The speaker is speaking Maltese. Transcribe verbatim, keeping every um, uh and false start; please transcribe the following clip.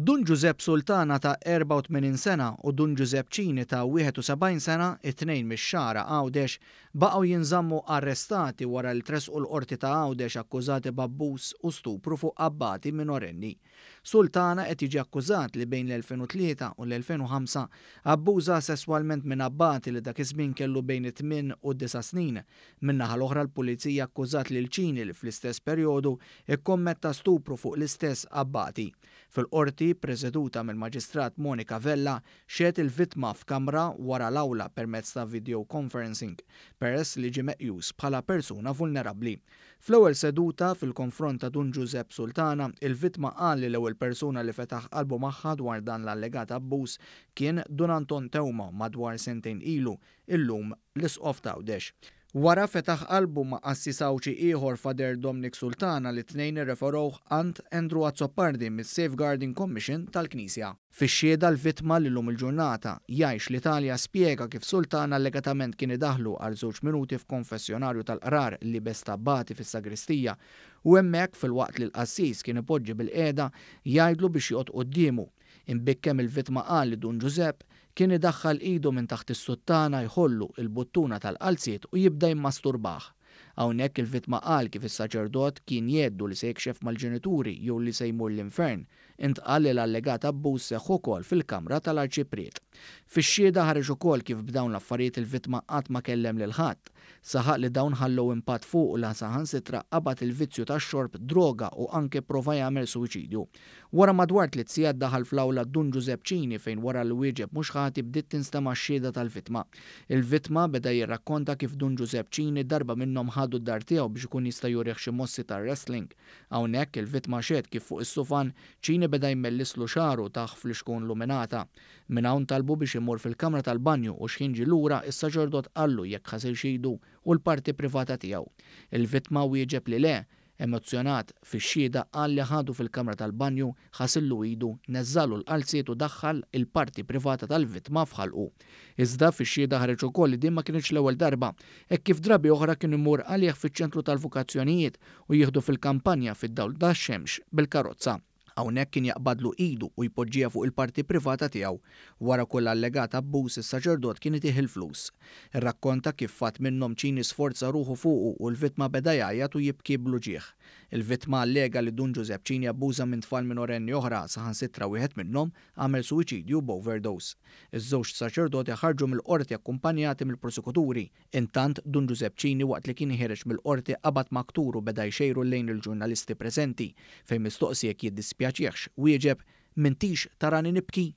Dun Ġużepp Sultana ta' erbgħa u tmenin sena u Dun Ġużepp Cini ta' wieħed u sebgħin sena, it-tnejn mix-Xagħra Għawdex, baqgħu jinżammu arrestati wara li tressqu l-Qorti ta' Għawdex akkużati b'abbuż u stupru fuq abbati minorenni. Sultana qed jiġi akkużat li bejn l-elfejn u tlieta u l-elfejn u ħamsa abbuża sesswalment minn abbati li dak iż-żmien kellu bejn it-tmien u d-disa' snin. Min-naħa l-oħra l-Pulizija akkużat lil Cini li fl-istess perjodu ikkommetta stupru fuq l-istess abbati. Fil-qorti, preseduta mill-Maġistrat Monica Vella, xehed il-vittma f'kamra wara l-awla permezz ta' video conferencing, peress li ġie meqjus bħala persuna vulnerabbli. Fl-ewwel seduta, fil-konfront ta' Dun Ġużepp Sultana, il-vittma qal li l-ewwel persuna li fetaħ qalbu magħha dwar dan l-allegat abbuż kien Dun Anton Teuma madwar sentejn ilu, illum l-Isqof t'Għawdex. Wara fetaħ qalbu ma' qassis Għawdxi ieħor Father Dominic Sultana li t-tnejn irreferewh għand Andrew Azzopardi mis-Safeguarding Commission tal-Knisja. Fix-xhieda l-vittma li llum il-ġurnata jgħix l-Italja spjega kif Sultana allegatament kien idaħħlu għal żewġ minuti f'konfessjonarju tal-qrar liebes t'abbati fis-sagristija u hemmhekk filwaqt li l-qassis kien ipoġġi bil-qiegħda jgħidlu biex joqgħod quddiemu. Imbikkem il-vittma qal li Dun Ġużepp kien idaħħal idu minn taħt is-suttana jħollu il-buttuna tal-qalziet u jibda jimmasturbah. Hawnhekk il-vittma qal kif is-saċerdot kien jgħeddu li se jikxef mal-ġenituri jew li se jmur l-infern. Intqal li l-allegat abbuż seħħ ukoll fil-kamra tal-arċipriet. Fix-xhieda ħareġ ukoll kif b'dawn l-affarijiet il-vittma qatt ma kellem lil ħadd. Saħaq li dawn ħallew impatt fuq u la saħansitra qabad il-vizzju tax-xorb, droga u anke prova jagħmel suwiċidju. Wara madwar tliet sigħat daħal fl-awla Dun Ġużepp Cini fejn wara li wieġeb mhux ħati bdiet tinstema' x-xhieda tal-vittma. Il-vittma beda jirrakkonta kif Dun Ġużepp Cini darba minnhom ħadu d-dar tiegħu biex ikun jista' jurih xi mossi tar-wrestling. Hawnhekk il-vittma xehed kif fuq is-sufan Cini beda jmellislu xagħru taħ fl-ixkun luminata. Minn hawn talbu biex imur fil-kamra tal-banju u x'ħin ġie lura is-saċerdot qallu jekk ħasilx idu u l-parti privata tiegħu. Il-vittma wieġeb li le, emozzjonat fix-xhieda qal li ħadu fil-kamra tal-banju, ħasillu idu, neżżalu l-qalziet u daħħal il-parti privata tal-vittma f'ħalqu. Iżda fix-xhieda ħareġ ukoll li din ma kinitx l-ewwel darba, hekk kif drabi oħra kien imur għalih fiċ-ċentru tal-vokazzjonijiet u jieħdu fil-kampanja fid-dawl tax-xemx bil-karozza. Hawnhekk kien jaqbadlu idu u jpoġġiha fuq il-parti privata tiegħu. Wara kull allegat abbuż is-saċerdot kien itih il-flus. Irrakkonta kif fatt minnhom Cini sforza ruħu fuqu u l-vittma beda jgħajjat u jibki bl-uġigħ. Il-vittma allega li Dun Ġużepp Cini abbuża minn tfal minorenni oħra, saħansitra wieħed minnhom għamel suwiċidju b'overdose. Iż-żewġ saċerdoti ħarġu mill-qorti akkumpanjati mill-prosekuturi. Intant Dun Ġużepp Cini waqt li kien ħiereġ mill-qorti qabad maktur u beda jxejru lejn il-ġurnalisti preżenti fejn mistoqsi jekk jiddispjaċihx wieġeb m'intix tarani nibki.